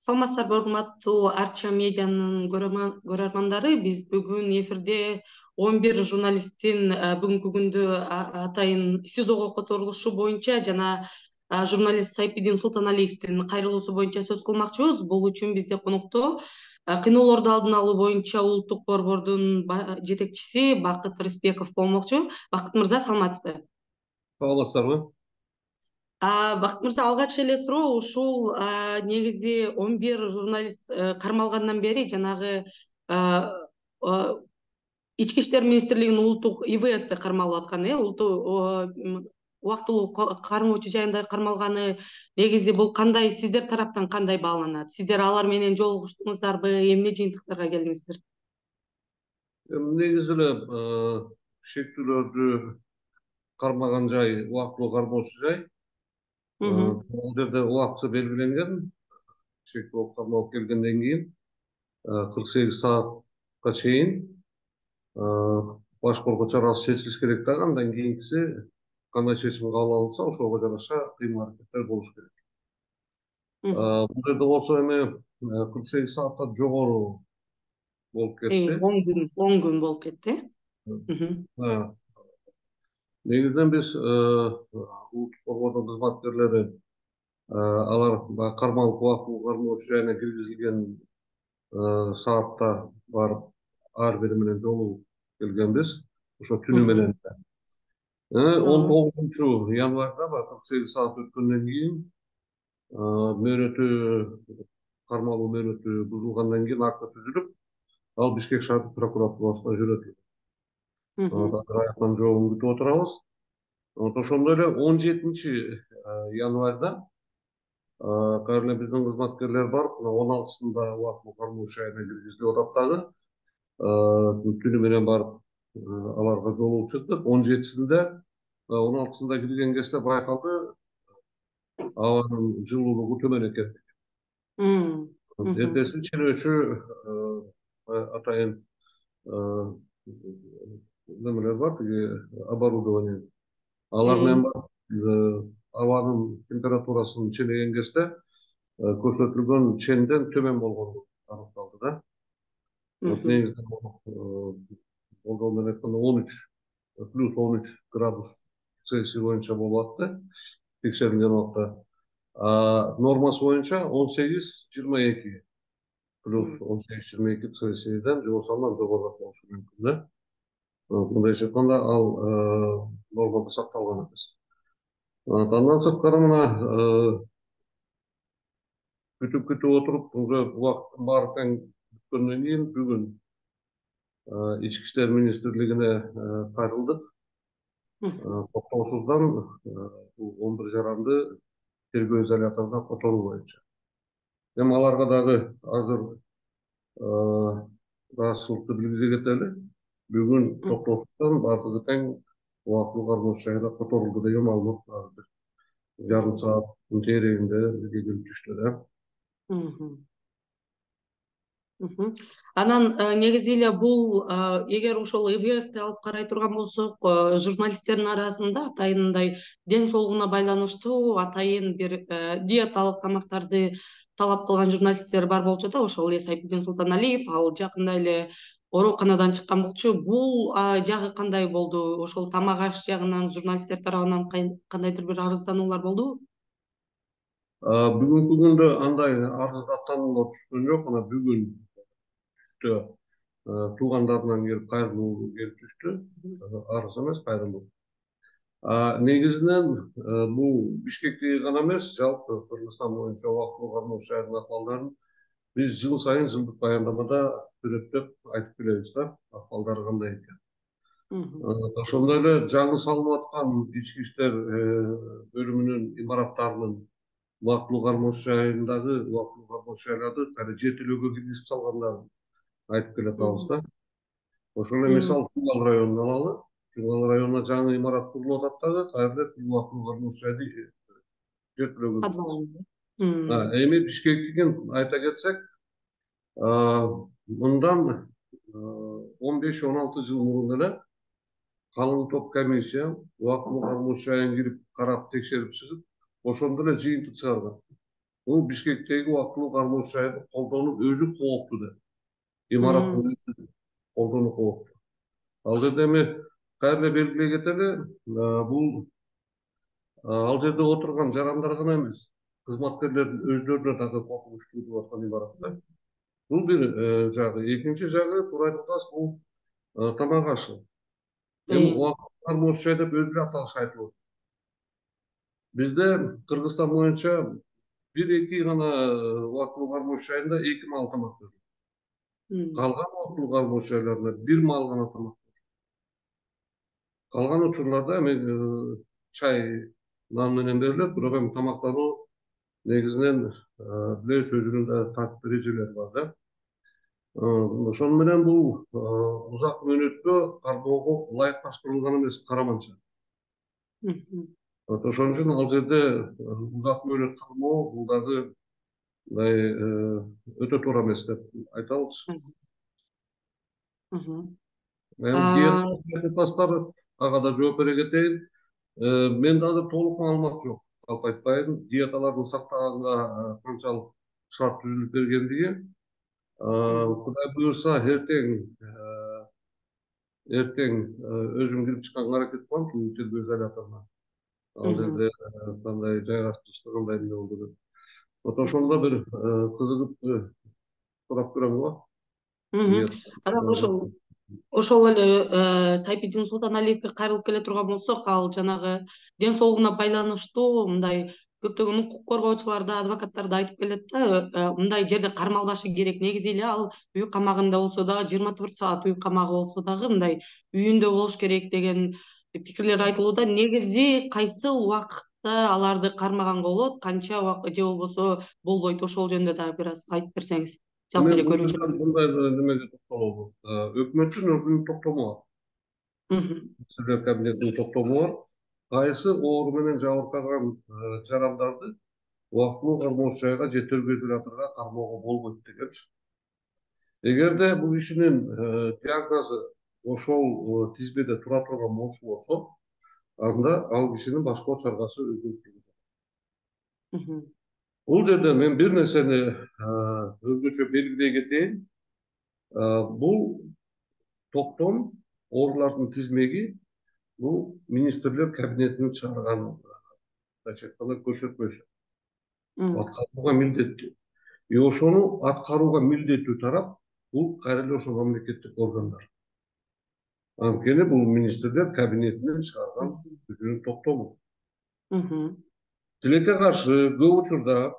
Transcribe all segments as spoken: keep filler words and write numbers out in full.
Саламатсыздарбы, урматтуу Арча медианын көрөрмандары. Биз бүгүн эфирде он бир журналисттин бүгүнкү күндө атайын СИЗОго которулушу боюнча жана журналист Сайпидин Султаналиевдин кайрылуусу боюнча сөз кылмакчыбыз. Бул үчүн бизде конокто кыйноолорду алдын алуу боюнча улуттук борбордун жетекчиси Бакыт Рыспеков болмокчу. Бакыт мырза, саламатсызбы? Саламатсыздарбы? Бакыт мырза, алгач эле суроо ушул негизи он бир журналист кармалгандан бери жанагы Ички иштер министрлигинин улуттук ИВСти кармалып аткан, э, улуттук убактылуу кармоочу жайында кармалганы негизи бул кандай, сиздер тараптан кандай бааланат? Сиздер алар менен жолугуштуңуздарбы, эмне жыйынтыктарга келдиңиздер? Негизи эле шектүүлөрдү кармаган жай убактылуу кармоочу жай. Бул жерде убакчы белгиленген. Шектүү кармалып келгенден кийин кырк сегиз саатка чейин баш коргоо чарасы чечилиш керек да, андан кийинкиси кандай чечим кабыл алынса ошого жараша кыймыл-аракеттер болуш керек. Бул жерде болсо эми кырк сегиз сааттан жогору болуп кетти. он күн, он күн болуп кетти. Негизинен биз улуттук борбордун кызматкерлери алар кармалып убактылуу кармоочу жайына киргизилген саатта барып ар бири менен жолугуп келгенбиз. Ошо түнү менен он тогузунчу январда кырк сегиз саат өткөндөн кийин мөөнөтү кармалуу мөөнөтү бузулгандан кийин акт түзүлүп, ал Бишкек шаардык прокуратурасына жөнөтүлдү. Азыр аяктан жообун күтүп отурабыз. Ошондой эле он жетинчи январда кайра эле биздин кызматкерлер барып, он алтысында убактылуу кармоочу жайына киргизилип атат дагы. Түнү менен барып аларга жолугуп чыктык. он жетисинде, он алтысында кирген кезде байкалды абанын жылуулугу төмөн экен. Эртеси ченөөчү атайын немелер бар, тиги оборудование. Алар менен барып абанын температурасын ченеген кезде көрсөтүлгөн ченден төмөн болгону аныкталды да. Негизинен болгон менен айтканда он үч плюс он үч градус Цельсий боюнча болуп атты текшерилген убакта. Нормасы боюнча он сегиз жыйырма эки плюс он сегиз жыйырма эки Цельсийден жогору андан жогору болушу мүмкүн да. Мындайча айтканда ал нормада сакталган эмес. Андан сырткары мына күтүп күтүп отуруп уже убакыттын баары тең бүткөндөн кийин бүгүн Ички иштер министрлигине кайрылдык. Токтоосуздан он бир жаранды тергөө изоляторуна которуу боюнча. Эми аларга дагы азыр ыраазычылыкты билдире кетели. Бүгүн токтоосуздан баардыгы тең убактылуу кармоочу жайына которулду деген маалымат бар. Жарым сааттын тегерегинде бизге келип түштү да. Анан негизи эле бул, эгер ошол ИВСти алып карай турган болсок, журналисттердин арасында атайын мындай ден соолугуна байланыштуу атайын бир диеталык тамактарды талап кылган журналисттер бар болчу да, ошол эле Сайпидин Султаналиев, ал жакында эле ооруканадан чыккан болчу. Бул жагы кандай болду? Ошол тамак аш жагынан журналисттер тарабынан кандайдыр бир арыздануулар болдубу? Бүгүнкү күндө андай арыздаттануулар түшкөн жок. Мына бүгүн түштө туугандарынан келип кайрылуу келип түштү. Арыз эмес, кайрылуу. Негизинен бул Бишкектеги гана эмес, жалпы Кыргызстан боюнча убактылуу кармоочу жайдын акыбалдарын биз жыл сайын жылдык баяндамада сүрөттөп айтып келебиз да, акыбалдары кандай экен. Ошондой эле жаңы салынып аткан ички иштер бөлүмүнүн имараттарынын убактылуу кармоочу жайындагы убактылуу кармоочу жайларды кайра жертөлөөгө киргизип салгандарын айтып келатабыз да. Ошол эле мисал Жугал районун алалы. Жугал районуна жаңы имарат курулуп атат дагы, кайра эле убактылуу кармоочу жайды жертөлөөгө киргизип. Эми Бишкектикин айта кетсек, мындан он беш он алты жыл мурун эле калың топ комиссия убактылуу кармоочу жайын кирип карап текшерип чыгып, ошондо эле жыйынтык чыгарган. бул Бишкектеги убактылуу кармоочу жайды колдонуп өзү коопту да. Имараттын өзү колдонуп коопту. Ал жерде эми кайра белгилей кетели, бул ал жерде отурган жарандар гана эмес, кызматкерлердин өздөрүнө дагы коркунучтуу деп аткан имаратта. Бул бир жагы. Экинчи жагы туура айткандасыз, бул тамак ашы. Эми убактылуу кармоочу жай деп өзү эле аталышы айтылып атат. Бизде Кыргызстан боюнча бир эки гана убактылуу кармоочу жайында эки маал тамак берилет. Калган убактылуу кармоочу жайларында бир маал гана тамак берилет. Калган учурларда эми чай, нан менен берилет, бирок эми тамактануу негизинен билебиз өзүнүн да тартип эрежелери бар да. Ошону менен бул узак мөөнөткө кармоого ылайыкташтырылган эмес, караманча. Ошон үчүн ал жерде узак мөөнөт кармоо бул дагы мындай өтө туура эмес деп айта алчу. Эми диета тастары ага да жооп бере кетейин. Менде азыр толук маалымат жок, калп айтпайын, диеталарды сактаганга канчалык шарт түзүлүп бергендиги. Кудай буюрса эртең эртең өзүм кирип чыкканга аракет кылам тергөө изоляторуна. Ал жерде кандай жайгаштырышты, кандай эмне болду деп. Вот ошондо бир кызыгып сурап көрөм го. Анан ошол ошол эле Сайпидин Султаналиевге кайрылып келе турган болсок, ал жанагы ден соолугуна байланыштуу мындай көптөгөн укук коргоочулар да, адвокаттар да айтып келет да, мындай жерде кармалбашы керек. Негизи эле ал үй камагында болсо дагы, жыйырма төрт саат үй камагы болсо дагы мындай үйүндө болуш керек деген пикирлер айтылууда. Негизи кайсы убакытта аларды кармаганга болот, канча убакыт же болбосо болбойт, ошол жөнүндө дагы бир аз айтып берсеңиз. Жалпы эле көрүүчү. Мындай немеге токтолобу. Өкмөттүн өзүнүн токтому бар. Министрлер кабинетинин токтому бар. Кайсы оору менен жабыркаган жарандарды убактылуу кармоочу жайга же тергөө изоляторуна кармоого болбойт дегенчи. Эгерде бул кишинин диагнозу ошол тизмеде тура турган болчу болсо, анда ал кишинин башкоо чаргасы өзгөртүлөт. Бул жерде мен бир нерсени өзгөчө белгилей кетейин. Бул токтом, оорулардын тизмеги бул министрлер кабинетинин чыгарган көрсөтмөсү. Аткарууга милдеттүү. И ошону аткарууга милдеттүү тарап бул кайра эле ошо мамлекеттик органдар. Анткени бул министрлер кабинетинин чыгарган өзүнүн токтому. Тилекке каршы көп учурда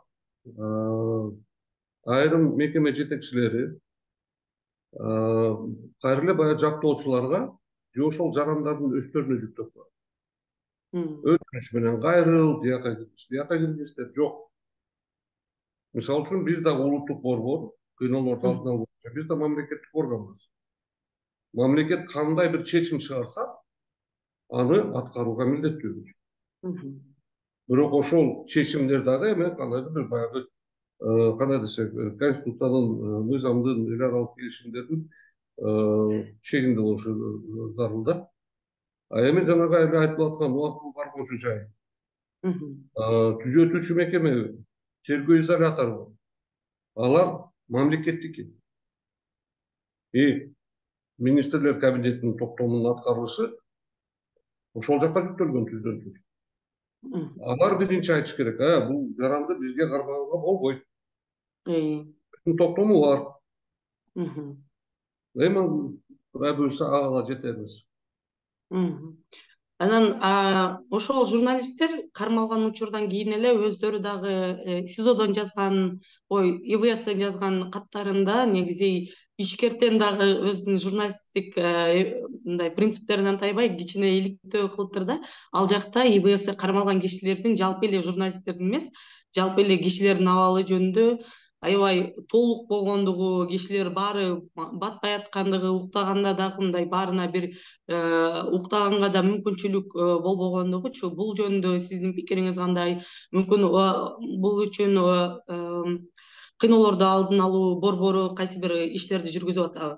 айрым мекеме жетекчилери кайра эле баягы жактоочуларга же ошол жарандардын өздөрүнө жүктөп коет. Өтүнүч менен кайрыл, тияка киргиз, тияка киргиз деп жок. Мисалы үчүн биз да улуттук борбор, кыйноолорду алдын алуу боюнча биз да мамлекеттик органбыз. Мамлекет кандай бир чечим чыгарса, аны аткарууга милдеттүүбүз. Бирок ошол чечимдер дагы эми кандайдыр бир баягы кандай десек, конституциянын, мыйзамдын, эл аралык келишимдердин чегинде болушу зарыл да. А эми жанагы эле айтылып аткан убактылуу кармоочу жай, түзөтүүчү мекеме, тергөө изолятору, алар мамлекеттики. И министрлер кабинетинин токтомунун аткарылышы ошол жакка жүктөлгөн түздөн түз. Алар биринчи айтыш керек, бул жаранды бизге кармаганга болбойт. Токтому бар. Эми Кудай буюрса ага жетербиз. Анан ошол журналисттер кармалган учурдан кийин эле өздөрү дагы СИЗОдон жазган, ой, ИВСтен жазган каттарында негизи ишкерден дагы өзүнүн журналисттик мындай принциптеринен тайбай кичине иликтөө кылыптыр да. Ал жакта ИВСте кармалган кишилердин жалпы эле журналисттердин эмес, жалпы эле кишилердин абалы жөнүндө аябай толук болгондугу, кишилер баары батпай аткандыгы, уктаганда дагы мындай баарына бир уктаганга да мүмкүнчүлүк болбогондугучу. Бул жөнүндө сиздин пикириңиз кандай? Мүмкүн бул үчүн кыйноолорду алдын алуу борбору кайсы бир иштерди жүргүзүп атабы?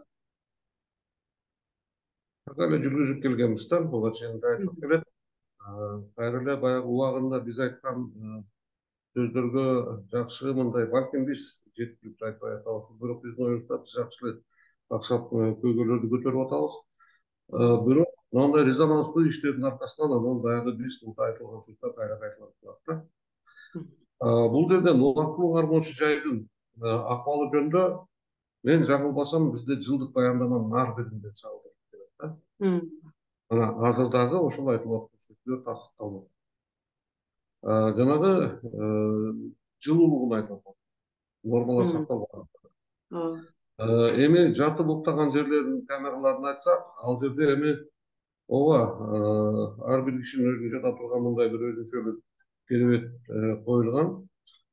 Так эле жүргүзүп келгенбиз да, буга чейин да айтып келет. Кайра эле баягы убагында биз айткан сөздөргө жакшы мындай, балким биз жеткиликтүү айтпай атабыз, бирок биздин оюбузда биз жакшы эле аксап көйгөйлөрдү көтөрүп атабыз. Бирок мындай резонанстуу иштердин аркасынан анан баягы биз мындай айтылган сөздөр кайра кайталанып турат да. Бул жерден убактылуу кармоочу жайдын акыбалы жөнүндө мен жаңылбасам бизде жылдык баяндаманын ар биринде чагылдырып келет да. Мына азыр дагы ошол айтылып аткан сөздөр тастыкталмак. Жанагы жылуулугун айтып атат. Нормалар сакталбаган. Эми жатып уктаган жерлердин камераларын айтсак, ал жерде эми ооба ар бир кишинин өзүнүн жата турган мындай бир өзүнчө бир керебет коюлган.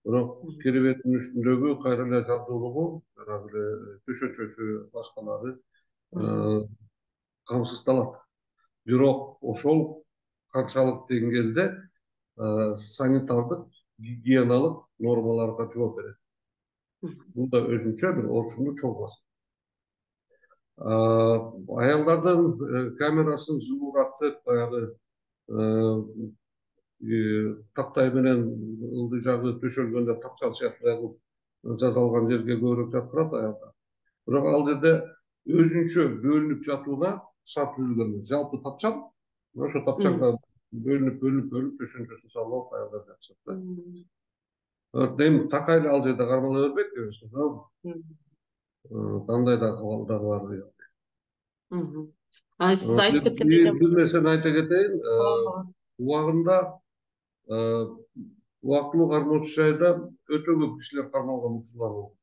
Бирок керебеттин үстүндөгү кайра эле жабдуулугу, жанагы эле төшөнчөсү, башкалары камсыздалат. Бирок ошол канчалык деңгээлде санитардык, гигиеналык нормаларга жооп берет. Бул да өзүнчө бир орчундуу чоң маселе. Аялдардын камерасын жылуураак, баягы тактай менен ылдый жагы төшөлгөндө тапчал сыяктуу жасалган жерге көбүрөөк жаткырат аялдар. Бирок ал жерде өзүнчө бөлүнүп жатууна шарт түзүлгөн эмес. Жалпы тапчал, ошо тапчалга бөлүнүп бөлүнүп бөлүнүп төшөнчөсүн салып аялдар жатышат да. Эми такай эле ал жерде кармала бербейт дебесиз, туурамбы? Кандай да акыбалдар бар. Сиз айтып кеткендей эле бир нерсени айта кетейин. Убагында убактылуу кармоочу жайда өтө көп кишилер кармалган учурлар болгон.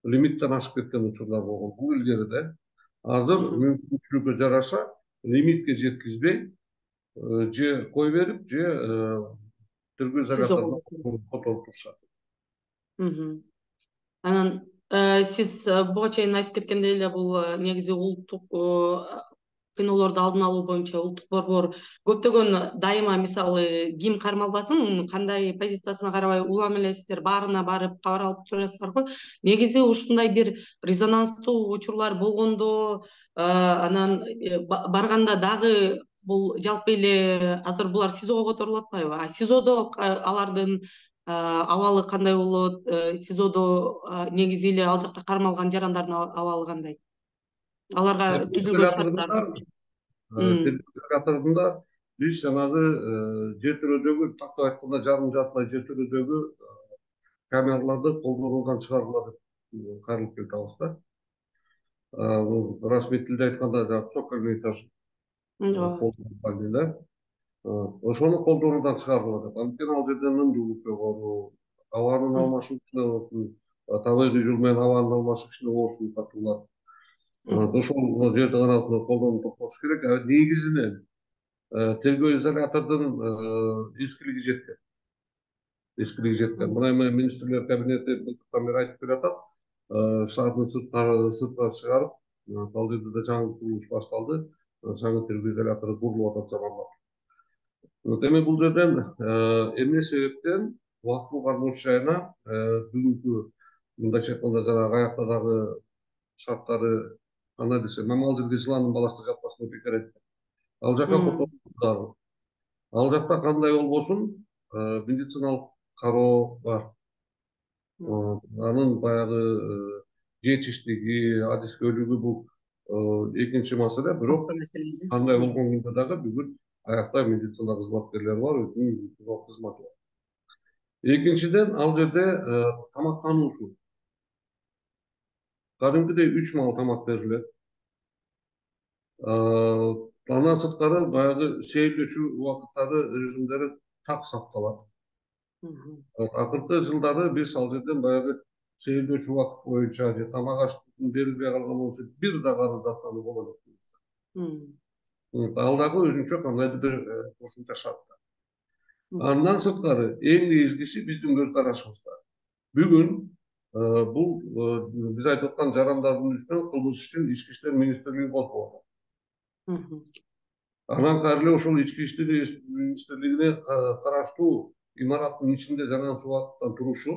Лимиттен ашып кеткен учурлар болгон. Бул илгерide азыр мүмкүнчүлүккө жараша лимитке жеткизбей же кой берип, же тергөө изоляторуна которуп турушат. Анан сиз буга чейин айтып кеткендей эле бул негизи улуттук кыйноолорду алдын алуу боюнча улуттук борбор көптөгөн дайыма, мисалы, ким кармалбасын, кандай позициясына карабай улам эле сиздер баарына барып кабар алып турасыздарбы? Негизи ушундай бир резонанстуу учурлар болгондо, анан барганда дагы бул жалпы эле азыр булар СИЗОго которулуп атпайбы? А СИЗОдо алардын абалы кандай болот? СИЗОдо негизи эле ал жакта кармалган жарандардын абалы кандай? Аларга түзүлгөн шарттар. Изоляторунда биз жанагы жер төрөдөгү, тактап айтканда жарым жартылай жер төрөдөгү камераларды колдонуудан чыгаргыла деп кайрылып келатабыз да. Расмий тилде айтканда цокольный этаж колдонуу, ошону колдонуудан чыгаргыла деп. Анткени ал жерде ындуулук жогору, абанын алмашуусуна, табигый жол менен абанын алмашышына оорчулук катуулар. Ошол жерди гана колдонууп токтотуш керек. Негизинен тергөө изолятордун эскилиги жеткен. Эскилиги жеткен. Мына эми министрлер кабинети былтырдан бери айтып келатат. Шаардын сыртына чыгарып, ал жерде да жаңы курулуш башталды. Жаңы тергөө изолятору курулуп атат заманбап. Эми бул жерден эмне себептен убактылуу кармоочу жайына бүгүнкү мындайча айтканда жанагы аякта дагы шарттары кандай десем, мамал жерге жыландын баласы жатпасын деп бекер айтты. Ал жака которулуп, ал жакта кандай болбосун медициналык кароо бар. Анын баягы жетиштиги, адискөйлүгү бул экинчи маселе. Бирок кандай болгон күндө дагы бүгүн аякта медицина кызматкерлери бар, өзүнүн медициналык кызматы бар. Экинчиден, ал жерде тамактануусу. Кадимкидей үч маал тамак берилет. Андан сырткары баягы сейилдешүү убакыттары, режимдери так сакталат. Акыркы жылдары биз ал жерден баягы сейилдешүү убакыт боюнча же тамак аштын берилбей калган болсо бир да арыздатуу боло элек. Ал дагы өзүнчө кандайдыр бир кошумча шарттар. Андан сырткары эң негизгиси биздин көз карашыбызда. Бүгүн бул биз айтып аткан жарандардын үстүнөн кылмыш ишин ички иштер министрлиги козгоду. Анан кайра эле ошол ички иштер министрлигине караштуу имараттын ичинде жанагынча убакыттан турушу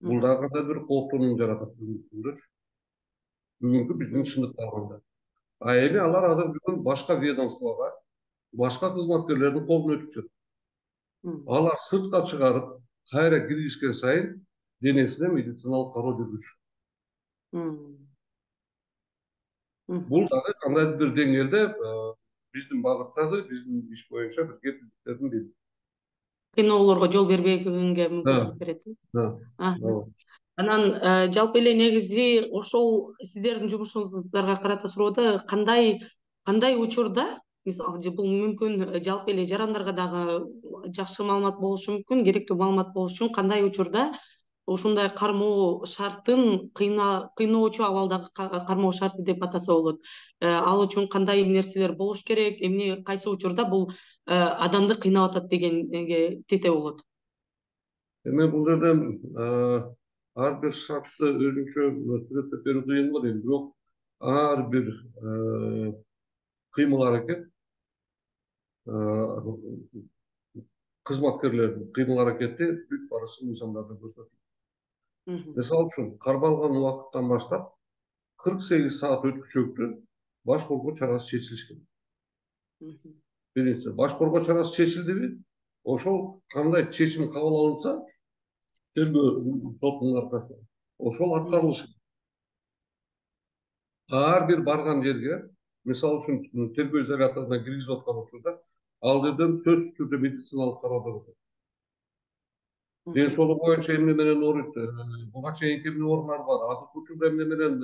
бул дагы кандай бир кооптонууну жаратат бүгүнкү күндөчү. Бүгүнкү биздин чындыкта алганда. А эми алар азыр бүгүн башка ведомствого, башка кызматкерлердин колуна өтүп жатат. Алар сыртка чыгарып, кайра киргизген сайын денесине медициналык кароо жүргүзүшөт. Бул дагы кандайдыр бир деңгээлде биздин багыттагы биздин иш боюнча бир кепилдиктердин бири. Кыйноолорго жол бербегенге мүмкүнчүлүк берет. Анан жалпы эле негизи ошол сиздердин жумушуңуздарга карата суроодо кандай кандай учурда, мисалы бул мүмкүн жалпы эле жарандарга дагы жакшы маалымат болушу мүмкүн, керектүү маалымат болуш үчүн кандай учурда ушундай кармоо шартын кыйноочу абалдагы кармоо шарты деп атаса болот. Ал үчүн кандай нерселер болуш керек, эмне кайсы учурда бул адамды кыйнап атат дегенге тете болот. Эми бул жерден ар бир шартты өзүнчө сүрөттөп берүү кыйын го дейм, бирок ар бир кыймыл аракет кызматкерлердин кыймыл аракети бүт барысы мыйзамдарда көрсөтүлгөн. Мисалы үчүн кармалган убакыттан баштап кырк сегиз саат өткүчөктү баш коргоо чарасы чечилиш керек. Биринчи, баш коргоо чарасы чечилдиби, ошол кандай чечим кабыл алынса, тергөө соттун аркасында ошол аткарылышы керек. Ар бир барган жерге, мисалы үчүн тергөө изоляторуна киргизип аткан учурда, ал жерден сөзсүз түрдө медициналык кароодон өтөт. Ден соолугу боюнча эмне менен ооруйт, буга чейинки эмне оорулар бар, азыркы учурда эмне менен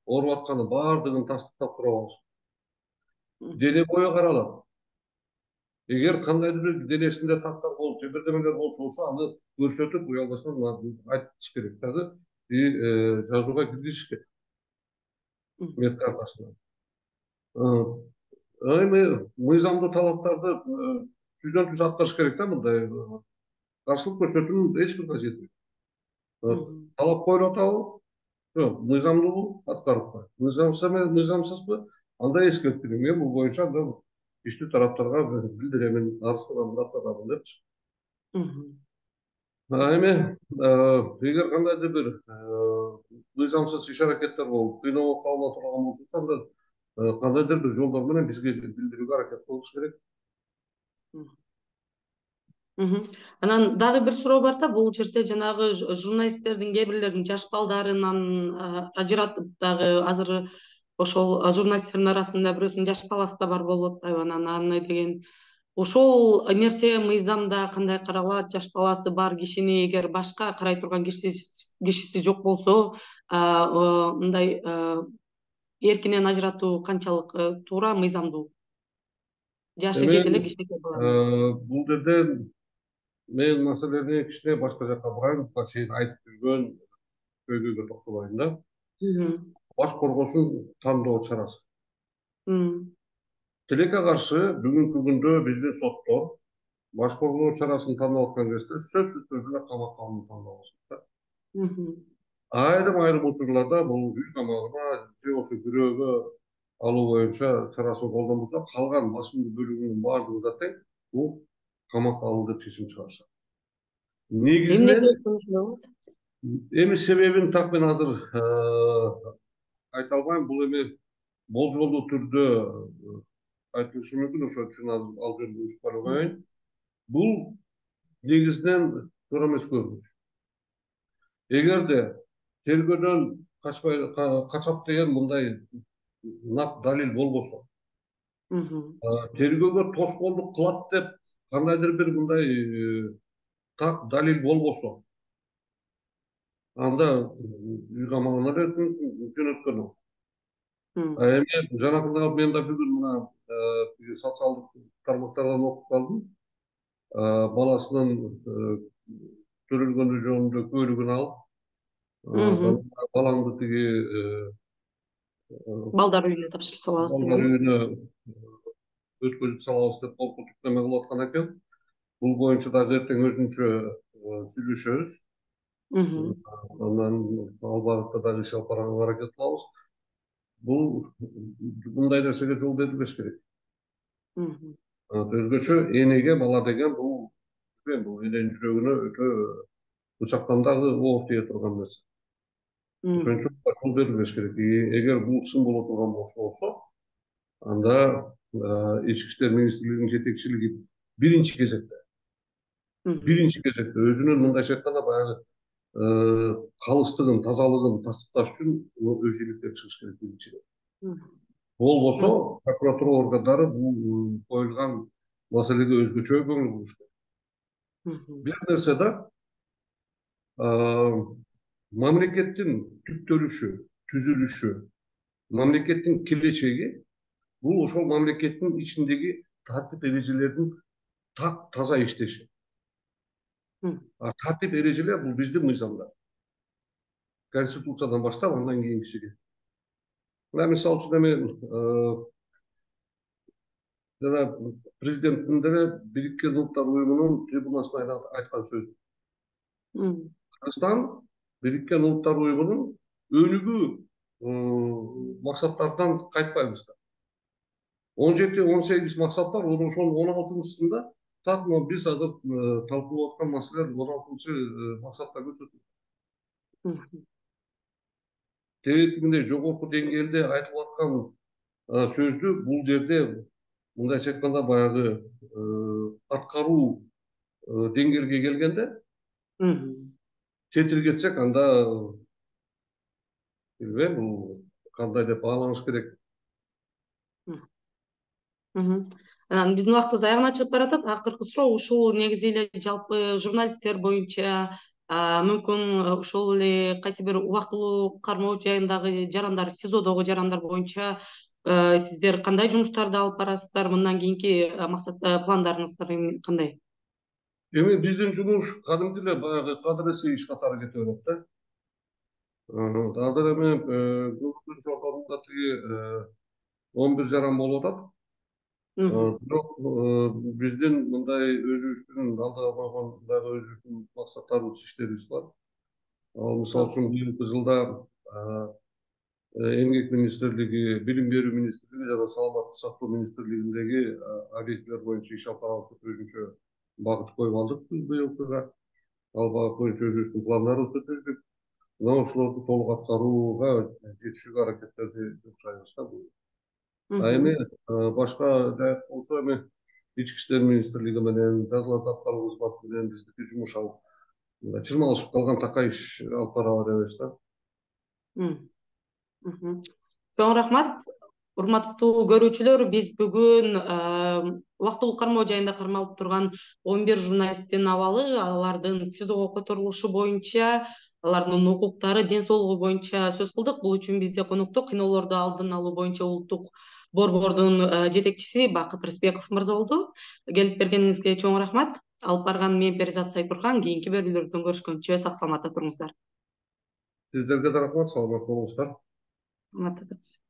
ооруп атканы баардыгын тастыктап туруп алышат. Дене бою каралат. Эгер кандайдыр бир денесинде тактар болуп же бирдемелер болчу болсо, аны көрсөтүп, уялбастан айтыш керек дагы, жазууга киргизиш керек. Медкартасына. Эми мыйзамдуу талаптарды түздөн түз аткарыш керек да, мындай каршылык көрсөтүүнүн эч бир кажети жок. Талап коюлуп атабы? Жок, мыйзамдуу аткарып коет. Мыйзамсызбы? Анда эскертилем. Мен бул боюнча иштүү тараптарга билдиремин, арыз даттадым депчи. Эми эгер кандайдыр бир мыйзамсыз иш аракеттер болуп, кыйноого кабыл ала турган болсо, анда кандайдыр бир жолдор менен бизге билдирүүгө аракет кылыш керек. Анан дагы бир суроо бар да, бул жерде жанагы журналисттердин кээ бирлеринин жаш балдарынан ажыратып дагы азыр ошол журналисттердин арасында бирөөсүнүн жаш баласы да бар болуп атпайбы, анан аны деген ошол нерсе мыйзамда кандай каралат? Жаш баласы бар кишини эгер башка карай турган кишиси жок болсо, мындай эркинен ажыратуу канчалык туура, мыйзамдуу? Жашы жете эле кичинекей бала. Бул жерде мен маселени кичине башка жакка бурайын, буга чейин айтып жүргөн көйгөйгө токтолоюн да. Баш коргоосун тандоо чарасы. Тилекке каршы бүгүнкү күндө биздин соттор баш коргоо чарасын тандап аткан кезде сөзсүз түрдө камакка алууну тандап алышат. Айрым айрым учурларда бул үй камагына же болбосо бирөөгө алуу боюнча чарасын колдонбосо, калган басымдуу бөлүгүнүн баардыгы да тең бул камакка алуу деп чечим чыгарышат. Негизинен эми себебин так мен азыр айта албайм, бул эми болжолдуу түрдө айтылышы мүмкүн, ошон үчүн ал жерде учпай коеюн. Бул негизинен туура эмес көрүнүш. Эгерде тергөөдөн качпай качат деген мындай нак далил болбосо, тергөөгө тоскоолдук кылат деп кандайдыр бир мындай так далил болбосо, анда үй камагына жөнөткөн ол. Эми жанакында мен да бүгүн мына социалдык тармактардан окуп калдым. Баласынын төрөлгөнү жөнүндө куәлигин алып, балаңды тиги балдар үйүнө тапшырып салабыз. Балдар үйүнө өткөзүп салабыз деп коркутуп неме кылып аткан экен. Бул боюнча дагы эртең өзүнчө сүйлөшөбүз. Анан ал багытта дагы иш алып барганга аракет кылабыз. Бул мындай нерсеге жол берилбеш керек. Өзгөчө энеге бала деген бул бул эненин жүрөгүнө өтө бычактан дагы оор тие турган нерсе. Ошон үчүн жол берилбеш керек. Эгер бул чын боло турган болсо, анда Ички иштер министрлигинин жетекчилиги биринчи кезекте биринчи кезекте өзүнүн мындайча айтканда баягы калыстыгын, тазалыгын тастыкташ үчүн өз иликтен чыгыш керек биринчиден. Болбосо прокуратура органдары бул коюлган маселеге өзгөчө көңүл буруш керек. Бир нерсе да, мамлекеттин түптөлүшү, түзүлүшү, мамлекеттин келечеги бул ошол мамлекеттин ичиндеги тартип эрежелердин так таза иштеши. Тартип эрежелер бул биздин мыйзамдар. Конституциядан баштап андан кийинкисиге. Мына мисалы үчүн эми жана президенттин деле Бириккен Улуттар Уюмунун трибунасына айткан сөзү. Кыргызстан Бириккен Улуттар Уюмунун өнүгүү максаттарынан кайтпайбыз да. он жети он сегиз максат бар, ошонун он алтынчысында так биз азыр талкуулап аткан маселелер он алтынчы максатта көрсөтүлгөн. Тегерегинде жогорку деңгээлде айтылып аткан сөздү бул жерде мындайча айтканда баягы аткаруу деңгээлге келгенде тетиргетсек, анда билбейм, бул кандай деп бааланыш керек. Биздин убактыбыз аягына чыгып баратат. Акыркы суроо ушул негизи эле жалпы журналисттер боюнча, мүмкүн ошол эле кайсы бир убактылуу кармоо жайындагы жарандар, СИЗОдогу жарандар боюнча сиздер кандай жумуштарды алып барасыздар? Мындан кийинки максат пландарыңыздар кандай? Эми биздин жумуш кадимки эле баягы кадыр иш катары кете берет да. Азыр эми көбүнчө чоңдорунда тиги он бир жаран болуп атат. Бирок биздин мындай өзүбүздүн алдыга койгон дагы өзүбүздүн максаттарыбыз, иштерибиз бар. Ал мисалы үчүн быйылкы жылда Эмгек министрлиги, Билим берүү министрлиги жана Саламаттык сактоо министрлигиндеги объектилер боюнча иш алып барабыз, өзүнчө багыт коюп алдык быйылкыга. Ал багыт боюнча өзүбүздүн пландарыбызды түздүк. Мына ошолорду толук аткарууга жетишүүгө аракеттерди жасайбыз да. А эми башка жайыт болсо, эми Ички иштер министрлиги менен, жазаларды аткаруу кызматы менен биздики жумуш алып чырмалышып калган такай иш алып бара беребиз да. Чоң рахмат. Урматтуу көрүүчүлөр, биз бүгүн убактылуу кармоо жайында кармалып турган он бир журналисттин абалы, алардын СИЗОго которулушу боюнча, алардын укуктары, ден соолугу боюнча сөз кылдык. Бул үчүн бизде конокто кыйноолорду алдын алуу боюнча улуттук борбордун жетекчиси Бакыт Рысбеков мырза болду. Келип бергениңизге чоң рахмат. Алып барган мен Перизат Сайпурхан. Кийинки берүүлөрдөн көрүшкөнчө сак саламатта туруңуздар. Сиздерге да рахмат, саламат болуңуздар. Саламатта туруңуз.